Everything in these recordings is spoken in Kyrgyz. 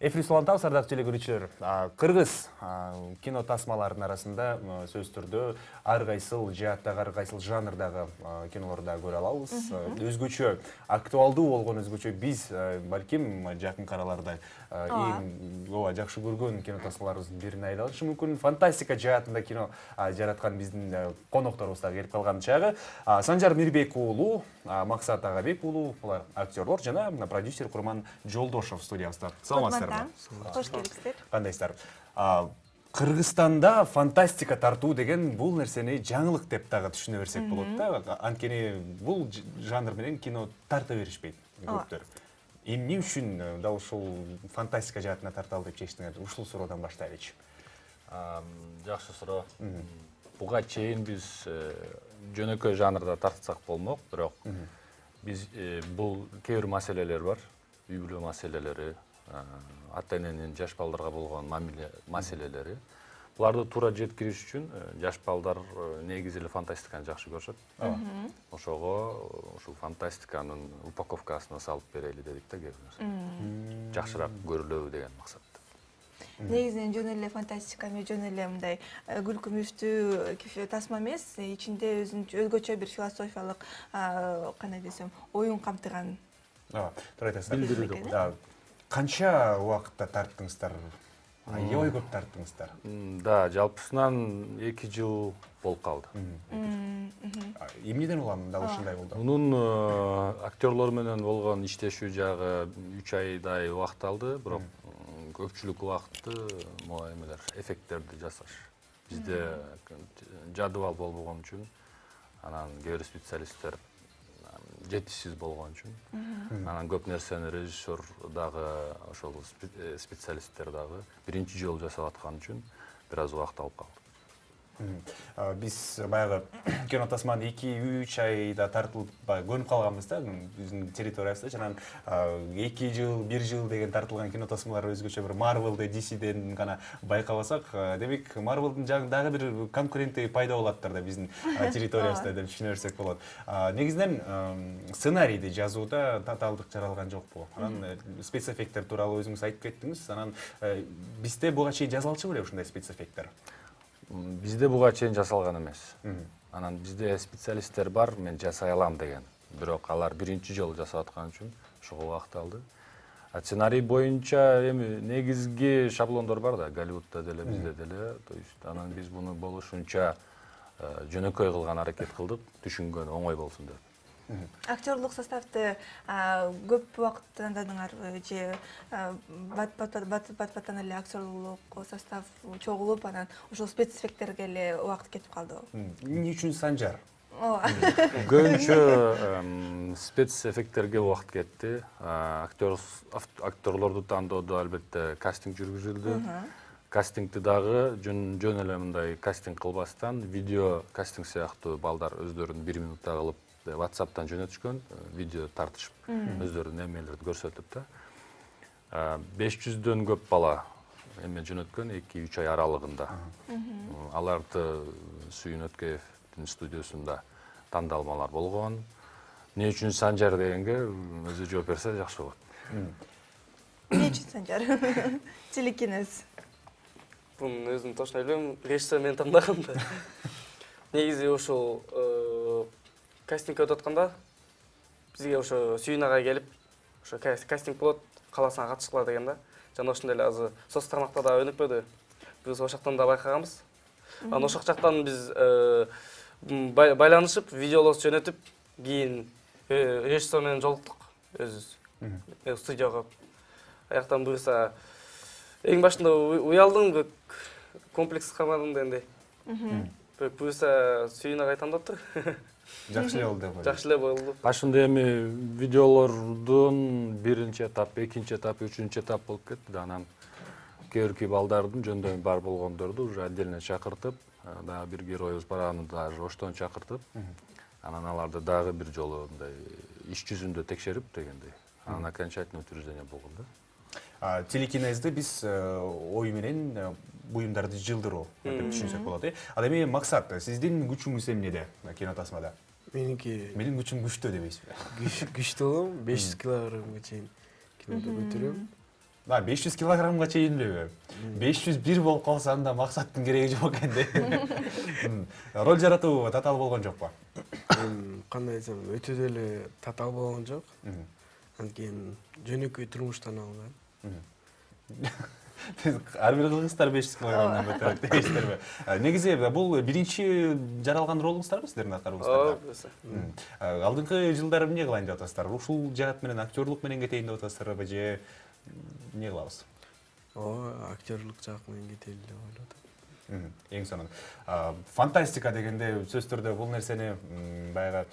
Эфир улантабыз, ардактуу телекөрүүчүлөр. Кыргыз кино тасмаларынын арасында сөз түрдө ар кайсыл жааттагы, ар кайсыл жанрдагы кинолорду көрө алабыз. Өзгөчө актуалдуу болгон, өзгөчө биз балким жакынкы араларда эң жакшы көргөн кино тасмаларыбыздын бирин айта алышы мүмкүн. Фантастика жаатында кино жараткан биздин конокторубуз дагы келип калган чагы. Санжар Мирбек уулу, Максат Агабек уулу, булар актерлор жана продюсер Курман Жолдошов студиябызда. Саламатсыздарбы? Кош келипсиздер. Кандайсыздар? Кыргызстанда фантастика тартуу деген бул нерсени жаңылык деп дагы түшүнө берсек болот да. Анткени бул жанр менен кино тарта беришпейт көптөр. Эмне үчүн дал ушул фантастика жаатына тарталы деп чечтиңер? Ушул суроодан баштайлычы. Жакшы суроо. Буга чейин биз жөнөкөй жанрда тартсак болмок, бирок биз бул кээ бир маселелер бар. Үй бүлө маселелери, ата-эненин жаш балдарга болгон мамиле маселелери. Буларды туура жеткириш үчүн жаш балдар негизи эле фантастиканы жакшы көрүшөт. Ошого ушул фантастиканын упаковкасына салып берели дедик да, кээ бир нерсе. Жакшыраак көрүлөбү деген максатта. Негизинен жөн эле фантастика эмес, жөн эле мындай күлкүмүштүү тасма эмес, ичинде өзгөчө бир философиялык, кандай десем, оюн камтыган. Туура айтасыздар. Канча убакытта тарттыңыздар? Аябай көп тарттыңыздар. Да, жалпысынан 2 жыл болуп калды. Эмнеден улам дал ушундай болду? Мунун актерлор менен болгон иштешүү жагы 3 айдай убакыт алды, бирок көпчүлүк убакытты могу эмелер, эффекттерди жасаш. Бизде жадыбал болбогон үчүн, анан кээ бир специалисттер жетишсиз болгон үчүн, анан көп нерсени режиссер дагы, ошол специалисттер дагы биринчи жолу жасап аткан үчүн бир аз убакыт алып калды. Биз баягы кино тасманы 2-3 айда тартылып көнүп калганбыз да биздин территориябызда. Жана 2 жыл, 1 жыл деген тартылган кино тасмалар өзгөчө бир Marvel'ды, DC'ден гана байкабасак, демек Marvel'дын дагы бир конкуренти пайда болоттур да биздин территориябызда деп түшүнө берсек болот. Негизинен сценарийди жазууда татаалдык жаралган жокпу? Анан спецэффекттер тууралуу өзүңүз айтып кеттиңиз. Анан бизде буга чейин жасалчу беле ушундай спецэффекттер? Бизде буга чейин жасалган эмес. Анан бизде специалисттер бар, мен жасай алам деген. Бирок алар биринчи жолу жасап аткан үчүн ошого убакыт алды. Сценарий боюнча эми негизги шаблондор бар да, Голливудда деле, бизде деле. То есть анан биз муну болушунча жөнөкөй кылган аракет кылдык, түшүнгөн оңой болсун деп. Актерлук составды көп убакыттандыңар же бат-баттан эле актерлук состав чогулуп, анан ошол спецэффекттерге эле убакыт кетип калды. Эмне үчүн Санжар? Көбүнчө спецэффекттерге убакыт кетти. Актерлорду тандоодо албетте кастинг жүргүзүлдү. Кастингди дагы жөн эле мындай кастинг кылбастан, видео кастинг сыяктуу балдар өздөрүн 1 минутта кылып WhatsApp'тан жөнөтүшкөн, видео тартышып, өздөрүнүн эмелерди көрсөтүп да. 500дөн көп бала эме жөнөткөн 2-3 ай аралыгында. Аларды Сүйүн Өткеевдин студиосунда тандалмалар болгон. Эмне үчүн Санжар дегенге өзү жооп берсе жакшы болот. Эмне үчүн Санжар? Телекинез. Бун өзүм точно билбейм, режиссер мени тандаган да. Негизи ошол кастингге өтүп атканда бизге ошо Сүйүн агай келип, ошо кастинг болот, кааласаң катышкыла деген да. Жана ошондой эле азыр соц тармакта да өнүкпөдү. Биз ошол жактан да байкаганбыз. Анан ошол жактан биз байланышып, видеолорду жөнөтүп, кийин режиссер менен жолуктук өзүбүз. Студияга. Аяктан буюрса эң башында уялдым, комплекс калмадым дегендей. Буюрса Сүйүн агай тандаттыр. Жакшы эле болду. Жакшы эле болду. Башында эми видеолордун биринчи этап, экинчи этап, үчүнчү этап болуп кетти. Анан кээ балдардын жөндөмү бар болгондорду уже отдельно чакыртып, дагы бир героюбуз бар, аны дагы оштон чакыртып, анан аларды дагы бир жолу мындай иш жүзүндө текшерип дегендей. Анан окончательный утверждение болгон да. Телекинезди биз ой менен буюмдарды жылдыруу деп түшүнсөк болот. Ал эми Максат, сиздин күчүңүз эмнеде кино тасмада? Менин күчүм күчтүү дебейсизби? Күчтүү болом, 500 килограммга чейин кинодо көтөрөм. 500 килограммга чейин элеби? 501 болуп калса анда максаттын кереги жок экен да. Роль жаратуу татаал болгон жокпу? Кандай десем, өтө деле татаал болгон жок. Анткени жөнөкөй турмуштан алган. Ар бир кыздар 500 килограммдан көтөрөт дейсиздерби? Негизи бул биринчи жаралган ролуңуздарбы сиздердин аткарууңуздарда? Алдыңкы жылдары эмне кылайын деп атасыздар? Ушул жаат менен актерлук менен кетейин деп атасыздарбы же эмне кылабыз? Актерлук жак менен кетели деп ойлоп атам. Эң сонун. Фантастика дегенде сөзсүз түрдө бул нерсени баягы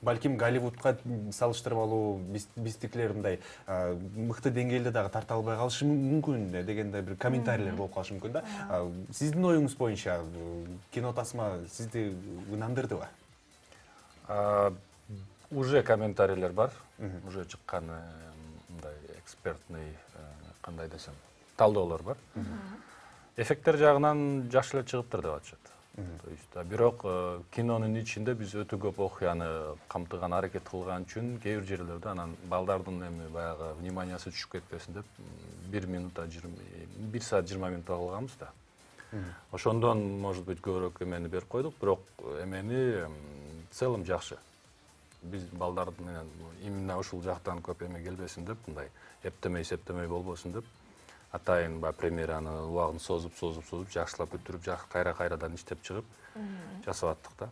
балким Голливудка салыштырып алуу биздикилер мындай мыкты деңгээлде дагы тарта албай калышы мүмкүн дегенде бир комментарийлер болуп калышы мүмкүн да. Сиздин оюңуз боюнча кино тасма сизди ынандырдыбы? Уже комментарийлер бар. Уже чыккан мындай экспертный кандай десем, талдоолор бар. Эффекттер жагынан жакшы эле чыгыптыр деп атышат. То есть, бирок кинонун ичинде биз өтө көп окуяны камтыган аракет кылган үчүн кээ бир жерлерде анан балдардын эми баягы вниманиясы түшүп кетпесин деп 1 саат 20 минут кылганбыз да. Ошондон, может быть, көбүрөөк эмени берип койдук, бирок эмени в целом жакшы. Биз балдар менен именно ушул жактан көп эме келбесин деп, мындай эптемей болбосун деп, атайын премьераны убагын созуп, жакшылап бүтүрүп, кайрадан иштеп чыгып жасап аттык да.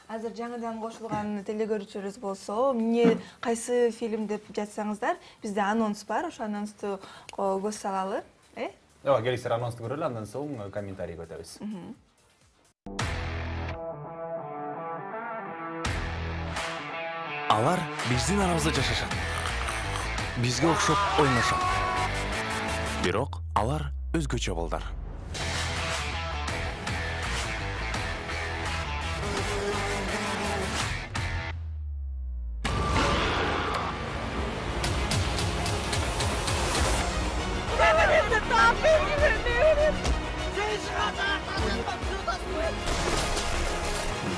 Азыр жаңыдан кошулган телегөрүүчүлөрүбүз болсо, эмне кайсы фильм деп жатсаңыздар, бизде анонс бар, ошо анонсту көз салалы, Ооба, келиңиздер анонсту көрөлү, андан соң комментарий өтөбүз. Алар биздин арабызда жашашат. Бизге окшоп ойношот. Бирок алар өзгөчө балдар.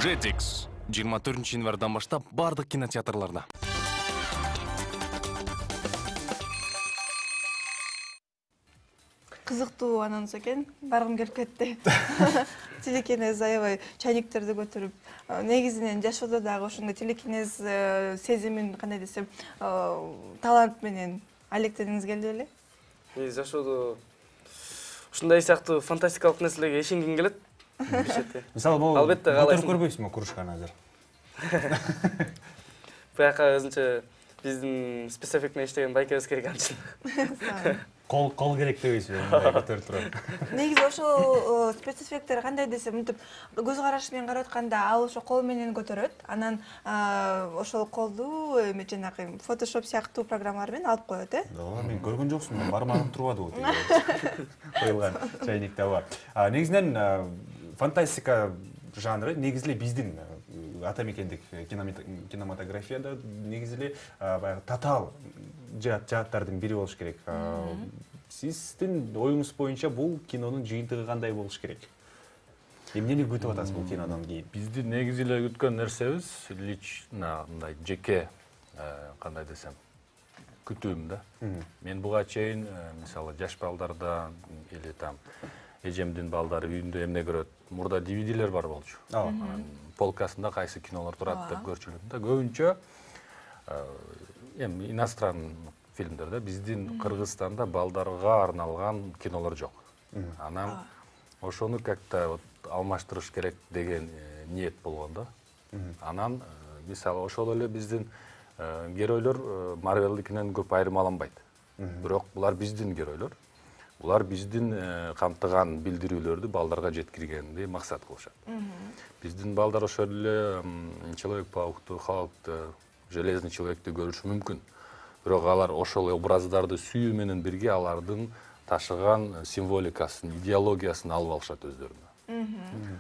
Jetix 24 январдан баштап бардык кинотеатрларда. Кызыктуу анонс экен, баргым келип кетти. Телекинез аябай чайниктерди көтөрүп, негизинен жашоодо дагы ошондой телекинез сезимин кандай десем, талант менен алектенгиңиз келди беле? Мен жашоодо ушундай сыяктуу фантастикалык нерселерге ишенгим келет. Мисалы, бул албетте каалайсың. Көтөрүп көрбөйсүзбү кружканы азыр? Буяка өзүнчө биздин спецэффект менен иштеген байкебиз керек анчын. Кол керек дебейсизби, мындай көтөрүп туруп? Негизи ошол спецэффекттер кандай десем, мынтип көз карашы менен карап атканда ал ошо кол менен көтөрөт. Анан ошол колду эме жанагы Photoshop сыяктуу программалар менен алып коет, Ооба, мен көргөн жоксун, бармагым турбадыбы коюлган чайникте бар. Негизинен фантастика жанры негизи эле биздин ата мекендик кинематографияда негизи эле баягы татаал жааттардын бири болуш керек. Сиздин оюңуз боюнча бул кинонун жыйынтыгы кандай болуш керек? Эмнени күтүп атасыз бул кинодон кийин? Биздин негизи эле күткөн нерсебиз лично мындай жеке кандай десем күтүүм да. Мен буга чейин мисалы жаш балдардан или там эжемдин балдары үйүндө эмне көрөт? Мурда DVD-лер бар болчу. Полкасында кайсы кинолор турат деп көрчүлүм да. Көбүнчө эми иностранный фильмдерде биздин Кыргызстанда балдарга арналган кинолор жок. Анан ошону как-то алмаштырыш керек деген ниет болгон да. Анан мисалы ошол эле биздин геройлор Марвелдикинен көп айырмаланбайт. Бирок булар биздин геройлор. Булар биздин камтыган билдирүүлөрдү балдарга жеткиргенди максат кылышат. Биздин балдар ошол эле Человек-паукту, Халкту, Железный человекти көрүшү мүмкүн. Бирок алар ошол образдарды сүйүү менен бирге алардын ташыган символикасын, идеологиясын алып алышат өздөрүнө.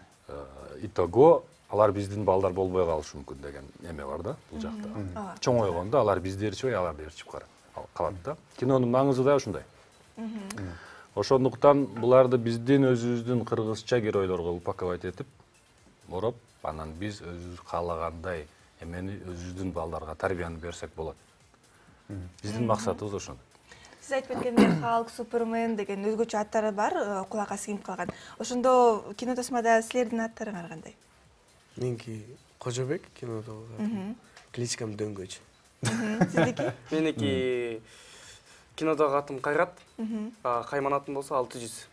Итого алар биздин балдар болбой калышы мүмкүн деген эме бар да бул жакта. Чоңойгондо алар биздерчи, аларды ээрчип калат да. Кинонун маңызы да ушундай. Ошондуктан буларды биздин өзүбүздүн кыргызча геройлорго упаковать этип, ороп, анан биз өзүбүз каалагандай эмени өзүбүздүн балдарга тарбияны берсек болот. Биздин максатыбыз ошондой. Сиз айтып өткөндөй Халк, Супермен деген өзгөчө аттары бар, кулакка сиңип калган. Ошондо кинотосмада силердин аттарыңар кандай? Меники Кожобек кинодогу. Кличкам Дөңгөч. Сиздики? Меники кинодогу атым Кайрат, кайман атым болсо 600.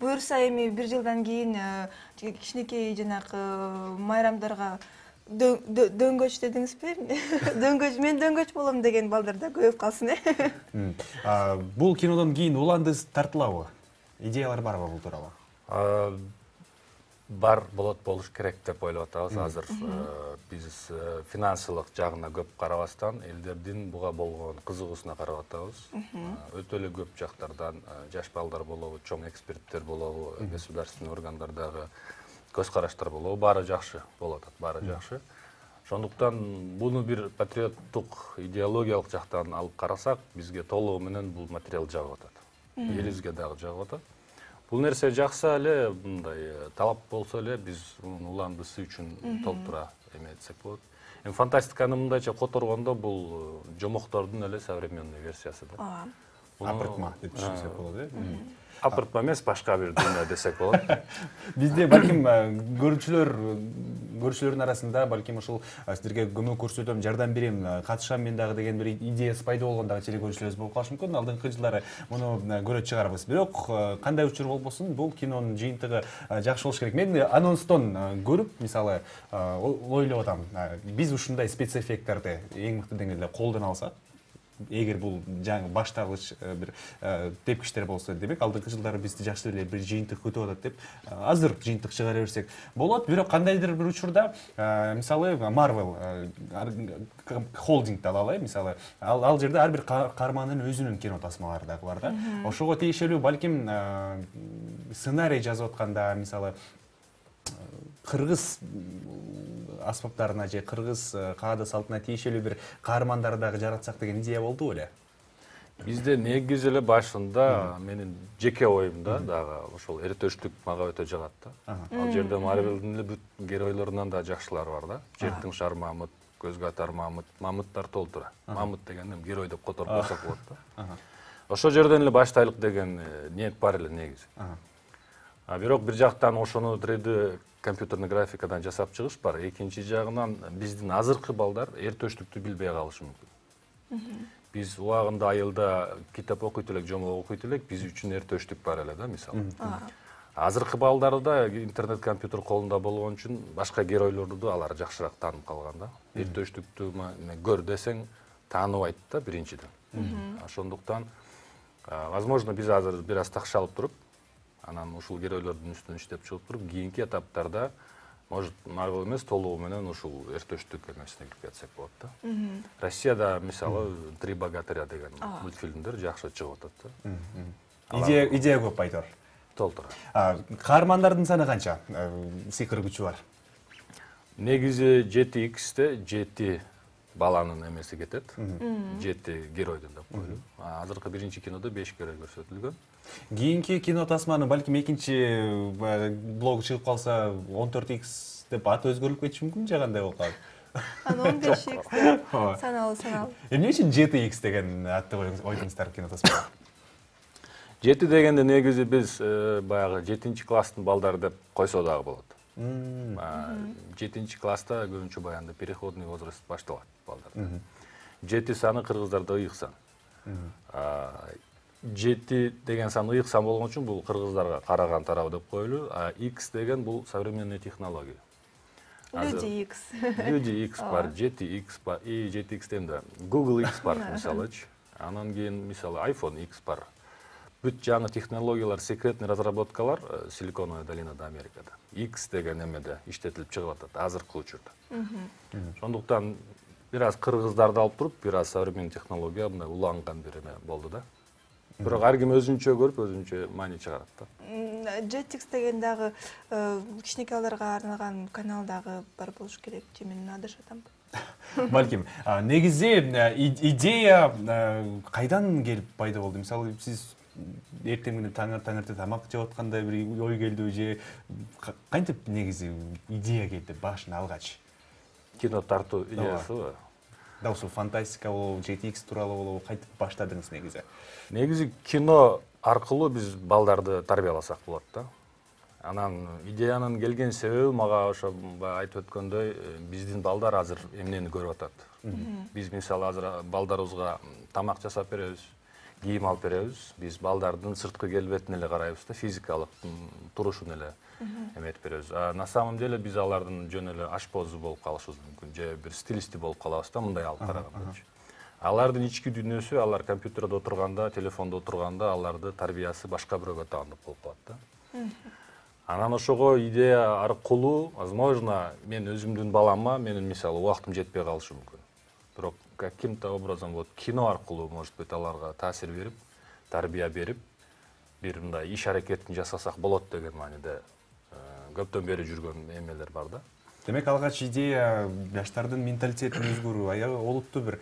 Буюрса эми 1 жылдан кийин кичинекей жанагы майрамдарга дөңгөч дедиңизби? Дөңгөч, мен дөңгөч болом деген балдар да көбөйүп калсын, Бул кинодон кийин уландыз тартылабы? Идеялар барбы бул тууралуу? Бар болуш керек деп ойлоп атабыз. Азыр биз финансылык жагына көп карабастан элдердин буга болгон кызыгуусуна карап атабыз. Өтө эле көп жактардан жаш балдар болобу, чоң эксперттер болобу, государственный органдардагы көз караштар болобу, баары жакшы болуп атат, баары жакшы. Ошондуктан буну бир патриоттук идеологиялык жактан алып карасак, бизге толугу менен бул материал жагып атат. Элибизге дагы жагып атат. Бул нерсе жакса эле, мындай талап болсо эле биз уландысы үчүн толтура эметсек болот. Эми фантастиканы мындайча которгондо бул жомоктордун эле современный версиясы да. Апыртма деп түшүнсөк болот, Апыртма эмес, башка бир дүйнө десек болот. Бизде балким көрүүчүлөрдүн арасында балким ушул сиздерге көмөк көрсөтөм, жардам берем, катышам мен дагы деген бир идеясы пайда болгон дагы телекөрүүчүлөрүбүз болуп калышы мүмкүн. Алдыңкы жылдары муну көрөт чыгарбыз. Бирок кандай учур болбосун, бул кинонун жыйынтыгы жакшы болуш керек. Мен анонстон көрүп, мисалы, ойлоп атам, биз ушундай спецэффекттарды эң мыкты деңгээлде колдоно алсак, эгер бул жаңы баштагыч бир тепкичтер болсо, демек алдыңкы жылдары бизди жакшы эле бир жыйынтык күтүп атат деп, азыр жыйынтык чыгара берсек болот. Бирок кандайдыр бир учурда, мисалы, Marvel холдингди алалы, мисалы, ал жерде ар бир каармандын өзүнүн кино тасмалары дагы бар да. Ошого тиешелүү балким сценарий жазып атканда, мисалы, кыргыз аспаптарына же кыргыз каада салтына тиешелүү бир каармандар дагы жаратсак деген идея болду эле. Бизде негизи эле башында менин жеке оюмда дагы ошол эртөштүк мага өтө жагат да. Ал жерде Marvel'дин эле бүт геройлорунан да жакшылар бар да. Жертиң шар Мамыт, көзгө атар Мамыт, Мамыттар толтура. Мамыт деген герой деп которуп койсок болот да. Ошол жерден эле баштайлык деген ниет бар эле негизи. Бирок бир жактан ошону 3D компьютерный графикадан жасап чыгыш бар. Экинчи жагынан биздин азыркы балдар эртөштүктү билбей калышы мүмкүн. Биз убагында айылда китеп окуйт элек, жомок окуйт элек, биз үчүн эртөштүк бар эле да, мисалы. Азыркы балдарда интернет компьютер колунда болгон үчүн башка геройлорду алар жакшыраак таанып калган да. Эртөштүктү көр десең тааныбайт да биринчиден. Ошондуктан возможно биз азыр бир аз такшалып туруп, анан ушул геройлордун үстүнөн иштеп чыгып туруп, кийинки этаптарда может Marvel эмес, толугу менен ушул эртөштүк эмесине кирип кетсек болот да. Россияда мисалы «Три богатыря» деген мультфильмдер жакшы чыгып атат да. Идея көп айтор. Толтура. Каармандардын саны канча? Сыйкыр күчү бар. Негизи 7X'те 7 баланын эмеси кетет. 7 геройдон деп коелу. Азыркы биринчи кинодо 5 герой көрсөтүлгөн. Кийинки кино тасманы балким экинчи блог чыгып калса 14X деп аты өзгөрүлүп кетиши мүмкүн же кандай болуп калат? Анан 15X деп саналуу. Эмне үчүн 7X деген атты ойдуңуздар кино тасмада? 7 дегенде негизи биз баягы 7-чи класстын балдары деп койсо дагы болот. 7-чи класста көбүнчө баягы переходный возраст башталат балдарда. 7 саны кыргыздарда ыйык сан. 7 деген сан ыйык сан болгон үчүн бул кыргыздарга караган тарабы деп коелу. X деген бул современный технология. Люди X. Люди X бар, 7X бар, и 7X демде Google X бар мисалычы. Анан кийин мисалы iPhone X бар. Бүт жаңы технологиялар, секретный разработкалар Силиконовая долинада Америкада. X деген эмеде иштетилип чыгып атат азыркы учурда. Ошондуктан бир аз кыргыздарды алып туруп, бир аз современный технология мындай уланган бир эме болду да. Бирок ар ким өзүнчө көрүп, өзүнчө маани чыгарат да. Jetix деген дагы кичинекей балдарга арналган канал дагы бар болуш керек, же мен адашып атамбы? Балким, негизи идея кайдан келип пайда болду? Мисалы, сиз эртең менен таңерте тамак жеп атканда бир ой келдиби же кантип негизи идея келди башына алгач? Кино тартуу идеясыбы? дал ушул фантастика болобу, GTX тууралуу болобу кантип баштадыңыз негизи? Негизи кино аркылуу биз балдарды тарбияласак болот да. Анан идеянын келген себеби мага ошо айтып өткөндөй, биздин балдар азыр эмнени көрүп атат. Биз мисалы азыр балдарыбызга тамак жасап беребиз, кийим алып беребиз. Биз балдардын сырткы келбетине эле карайбыз да, физикалык турушуна эле эметип беребиз. На самом деле биз алардын жөн эле ашпозу болуп калышыбыз мүмкүн, же бир стилисти болуп калабыз да, мындай алып караганда. Алардын ички дүйнөсү, алар компьютерде отурганда, телефондо отурганда аларды тарбиясы башка бирөөгө таандык болуп калат да. Анан ошого идея аркылуу, возможно, мен өзүмдүн балама менин мисалы убактым жетпей калышы мүмкүн. Бирок каким-то образом вот кино аркылуу, может быть, аларга таасир берип, тарбия берип, бир мындай иш аракетин жасасак болот деген мааниде көптөн бери жүргөн эмелер бар да. Демек алгач идея жаштардын менталитетин өзгөрүү, аябай олуттуу бир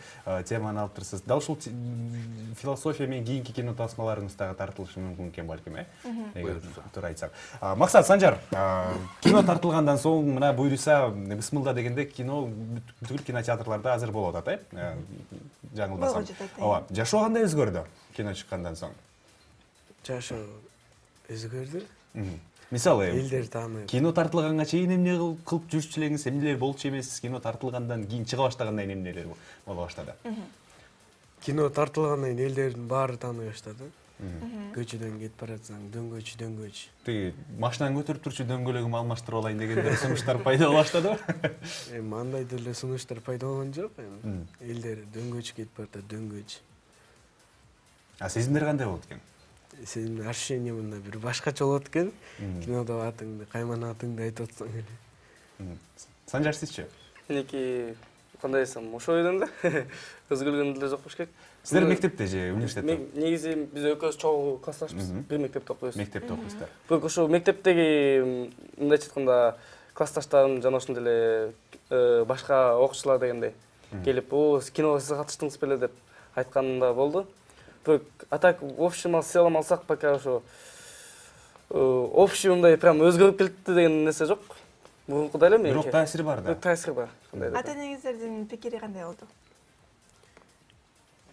теманы алып турсуз. Дал ушул философия менен кийинки кино тасмаларыңыз дагы тартылышы мүмкүн экен балким, эгер туура айтсам. Максат, Санжар, кино тартылгандан соң мына буюрса бисмилла дегенде кино бүткүл кинотеатрларда азыр болуп атат, жаңылбасам. Ооба, жашоо кандай өзгөрдү кино чыккандан соң? Жашоо өзгөрдү. Мисалы, элдер тааныйт. Кино тартылганга чейин эмне кылып жүрчү элеңиз, эмнелер болчу эмес, кино тартылгандан кийин чыга баштагандан кийин эмнелер боло баштады? Кино тартылгандан кийин элдердин баары тааный баштады. Көчөдөн кетип баратсаң, дөңгөч. Тиги машинаны көтөрүп турчу дөңгөлөгүмү алмаштырып алайын дегендер сунуштар пайда боло баштадыбы? Андай деле сунуштар пайда болгон жок. Элдер дөңгөч кетип баратат, дөңгөч. Сезимдер кандай болот экен? Сенин ощущение мындай бир башкача болот экен. Кинодо атыңды, кайман атыңды айтып атсаң эле. Санжар, сизчи? Меники кандай десем, ошо ойдон да. Өзгөргөн деле жок болуш керек. Сиздер мектепте же университетте? Негизи биз экөөбүз чогуу классташпыз, бир мектепте окуйбуз. Мектепте окуйсуздар. Бирок ошо мектептеги мындайча айтканда классташтарым жана ошондой эле башка окуучулар дегендей келип, киного сиз катыштыңыз беле деп айтканда болду. А так в общем целом алсак пока ошо общий мындай прям өзгөрүп кетти деген нерсе жок. Мурункудай эле меники. Бирок таасири бар да. Таасири бар. Ата-энеңиздердин пикири кандай болду?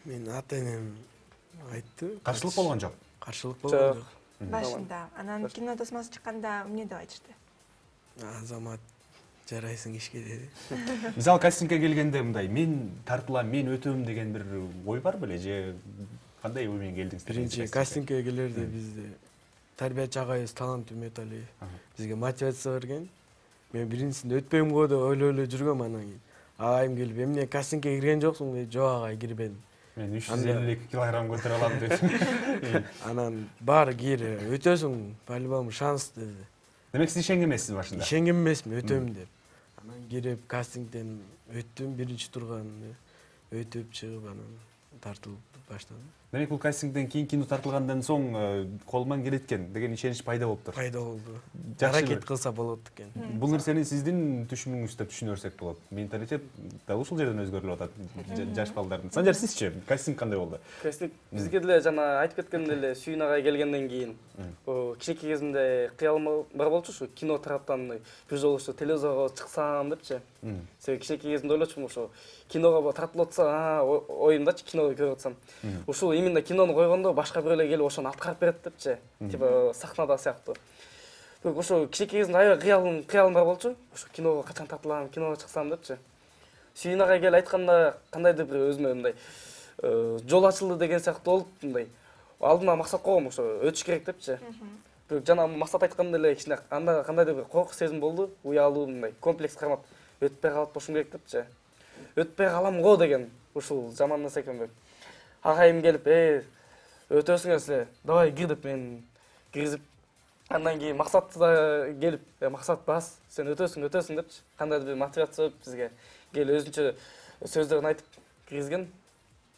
Мен ата-энем айтты. Каршылык болгон жок. Каршылык болгон жок. Башында. Анан кино тасмасы чыкканда эмне деп айтышты? Азамат, жарайсың ишке деди. Мисалы кастингге келгенде мындай мен тартылам, мен өтөм деген бир ой бар беле же кандай ой менен келдиңиз? Биринчи кастингге келерде бизде тарбиячы агайыбыз Талант Үмөталиев бизге мотивация берген. Мен биринчисинде өтпөйм го деп ойлой жүргөм, анан кийин агайым келип, эмне кастингге кирген жоксуң деп, жок агай кирбедим. Мен 352 килограмм көтөрө алам деп. Анан баары кир, өтөсүң, по-любому шанс деди. Демек сиз ишенген эмессиз башында? Ишенген эмесмин, өтөм деп. Анан кирип кастингден өттүм, биринчи турганды өтүп чыгып анан тартылып баштадым. Демек бул кастингден кийин кино тартылгандан соң колуман келет экен деген ишенич пайда болуптур. Пайда болду. Жакшы Аракет кылса болот экен. Бул нерсени сиздин түшүнүңүз деп түшүнө берсек болот. Менталитет дал ушул жерден өзгөрүлүп атат жаш балдардын. Санжар, сизчи кастинг кандай болду? Кастинг бизге деле жана айтып кеткендей эле Сүйүн агай келгенден кийин кичинекей кезимде кыялым бар болчу, ушу кино тараптан бир жолу ушу телевизорго чыксам депчи. Себеби кичинекей кезимде ойлочумун, ошо киного тартылып атса, оюмдачы кино көрүп атсам. Ушул именно кинону койгондо башка бирөөлөр келип ошону аткарып берет депчи. Типа сахнада сыяктуу. Бирок ошо кичинекей кезимде аябай кыялым бар болчу. Ошо киного качан тартылам, киного чыксам депчи. Сүйүн агай келип айтканда кандайдыр бир өзүмө мындай жол ачылды деген сыяктуу болуп, мындай алдыма максат койгом, ошо өтүш керек депчи. Бирок жана максат айткандай эле кичине анда кандайдыр бир коркук сезим болду, уялуу мындай комплекс кармап өтпөй калып бошум керек депчи. Өтпөй калам го деген ушул жаман нерсе экен. Агайым келип, өтөсүңөр силер, давай кир деп мен киргизип, андан кийин максат да келип, максат бас, сен өтөсүң депчи. Кандайдыр бир мотивация берип бизге келип өзүнчө сөздөрүн айтып киргизген.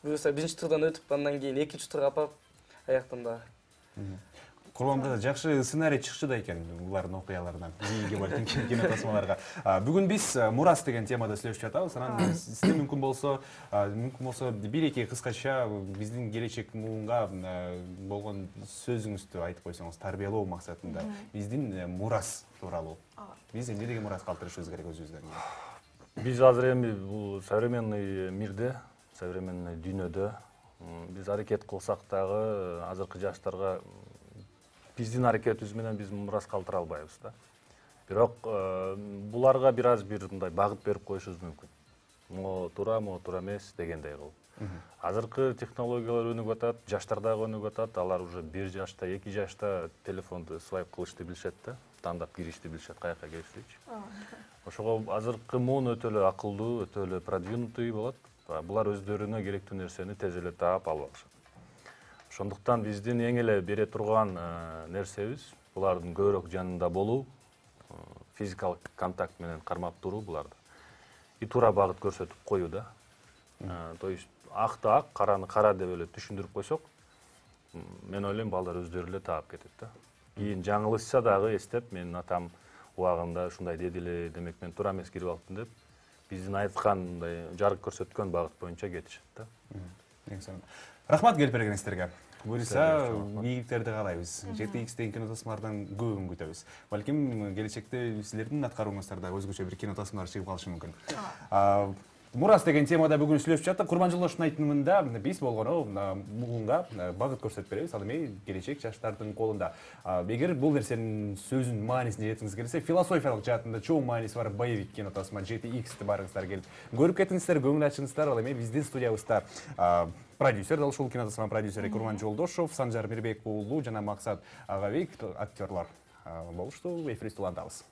Буюрса биринчи турдан өтүп, андан кийин экинчи турга апарып, аяктан да. Курбан брат, жакшы сценарий чыкчу да экен булардын окуяларынан. Кийинки балким кино тасмаларга. Бүгүн биз мурас деген темада сүйлөшүп жатабыз. Анан сизде мүмкүн болсо бир-эки кыскача биздин келечек муунга болгон сөзүңүздү айтып койсоңуз, тарбиялоо максатында биздин мурас тууралуу. Биз эмне деген мурас калтырышыбыз керек өзүбүздөн? Биз азыр эми бул современный мирде, современный дүйнөдө биз аракет кылсак дагы азыркы жаштарга биздин аракетибиз менен биз мурас калтыра албайбыз да. Бирок буларга бир мындай багыт берип коюшубуз мүмкүн. Могу туура эмес дегендей кылып. Азыркы технологиялар өнүгүп атат, жаштар дагы өнүгүп атат. Алар уже 1 жашта, 2 жашта телефонду свайп кылышты билишет да, тандап киришти билишет, каяка киришти. Ошого азыркы муун өтө эле акылдуу, өтө эле продвинутый болот. Булар өздөрүнө керектүү нерсени тез эле таап алып алышат. Ошондуктан биздин эң эле бере турган нерсебиз булардын көбүрөөк жанында болуу, физикалык контакт менен кармап туруу буларды. И туура багыт көрсөтүп коюу да. То есть акты ак, караны кара деп эле түшүндүрүп койсок, мен ойлойм балдар өздөрү эле таап кетет да. Кийин жаңылышса дагы эстеп, менин атам убагында ушундай деди эле, демек мен туура эмес кирип алыптым деп, биздин айткан мындай жарык көрсөткөн багыт боюнча кетишет да. Рахмат келип бергениңиздерге. Буюрса, ийгиликтерди каалайбыз. GTX-тен кинотасмалардан көбүн күтөбүз. Балким келечекте силердин аткарууңуздарда өзгөчө бир кинотасмалар чыгып калышы мүмкүн. Мурас деген темада бүгүн сүйлөшүп жаттык. Курман Жолдошдун айтымында биз болгону муунга багыт көрсөтүп беребиз. Ал эми келечек жаштардын колунда. Эгер бул нерсенин сөзүнүн маанисине жеткиңиз келсе, философиялык жаатында чоң мааниси бар боевик кинотасма GTX-ти барыңыздар келип көрүп кетиңиздер, көңүл ачыңыздар. Ал эми биздин студиябызда продюсер, дал ушул кинотасма продюсери Курман Жолдошов, Санжар Мирбек уулу жана Максат Агабек актерлор болушту. Эфирибизди улантабыз.